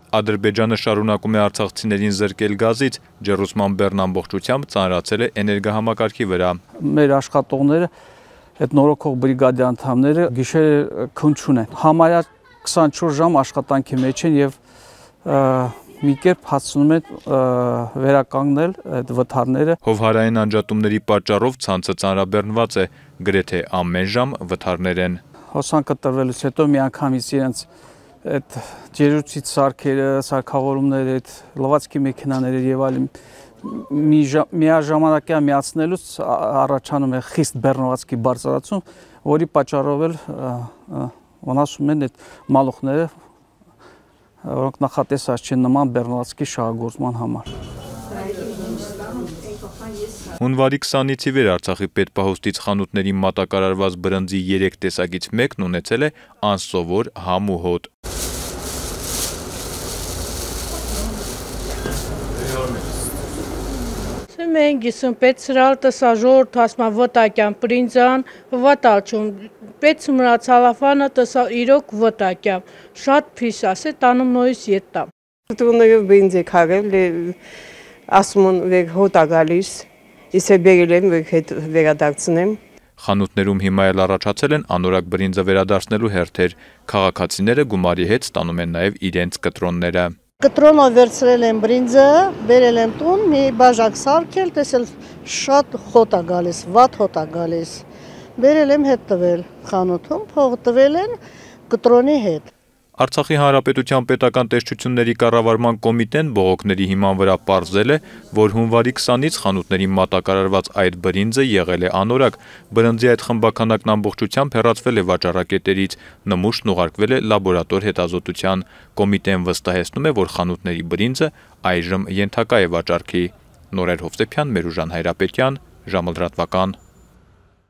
Ադրբեջանը շարունակում է արցախցիներին զրկել գազից, ջեռուցման բեռն ամբողջությամբ ծանրացել է էներգահամակարգի վրա։ Մեր աշխատողները, այդ նորոգող բրիգադի անդամները գիշերը քուն չունեն։ Համարյա 24 ժամ աշխատանքի մեջ են եւ մի կերպ հասցնում են վերականգնել այդ վթարները։ Հովհարային անջատումների պատճառով ցանցը ծանրաբեռնված է, գրեթե ամեն ժամ վթարներ են։ Հոսանքը տրվելուց հետո միանգամից իրենց այդ ջերուցիչ սարքերը, սարքավորումները, այդ լվացքի մեքենաները եւ այլն միաժամանակյա միացնելուց առաջանում է խիստ բեռնվածքի բարձրացում, որի պատճառով էլ վնասում են այդ մալուխները, որոնք նախատեսած չեն նման բեռնվածքի շահագործման համար։ Հունվարի 20-ից ի վեր Արցախի պետպահոստից խանութների մատակարարված բրնձի 3 տեսակից մեկն ունեցել է անսովոր համ ու հոտ։ Մենք գիսում պետ սրալ տսա ժորդ հասմա վտակյան պրինձան վտալչում պետ սմրա ցալաֆանը տսա իրոք վտակյամ շատ փիս ասե տանում նոյս ետտամ։ Տրունները բրինձ է քարել ասմուն վեր հոտա գալիս իսկ բերել եմ վեր հետ վերադարձնեմ։ Խանութներում հիմա էլ առաջացել են անորակ բրինձը վերադարձնելու հերթեր։ Քաղաքացիները գումարի հետ ստանում են նաև իրենց կտրոնները։ Կտրոնով վերցրել եմ բրինձը, բերել եմ տուն, մի բաժակ սարքել, տեսել շատ հոտ է գալիս, վատ հոտ է գալիս։ Բերել եմ հետ տվել խանութում, փող տվել են կտրոնի հետ։ Արցախի Հանրապետության պետական տեսչությունների կառավարման կոմիտեն բողոքների հիման վրա պարզել է, որ հունվարի 20-ից խանութների մատակարարված այդ բրինձը եղել է անորակ, բրնձի այդ խմբաքանակն ամբողջությամբ հեռացվել է վաճառակետերից, նմուշն ուղարկվել է լաբորատոր հետազոտության։ Կոմիտեն վստահեցնում է, որ խանութների բրինձը այժմ ենթակա է վաճառքի։ Նորեր Հովսեփյան, Մերուժան Հայրապետյան, ժամը լրատվական։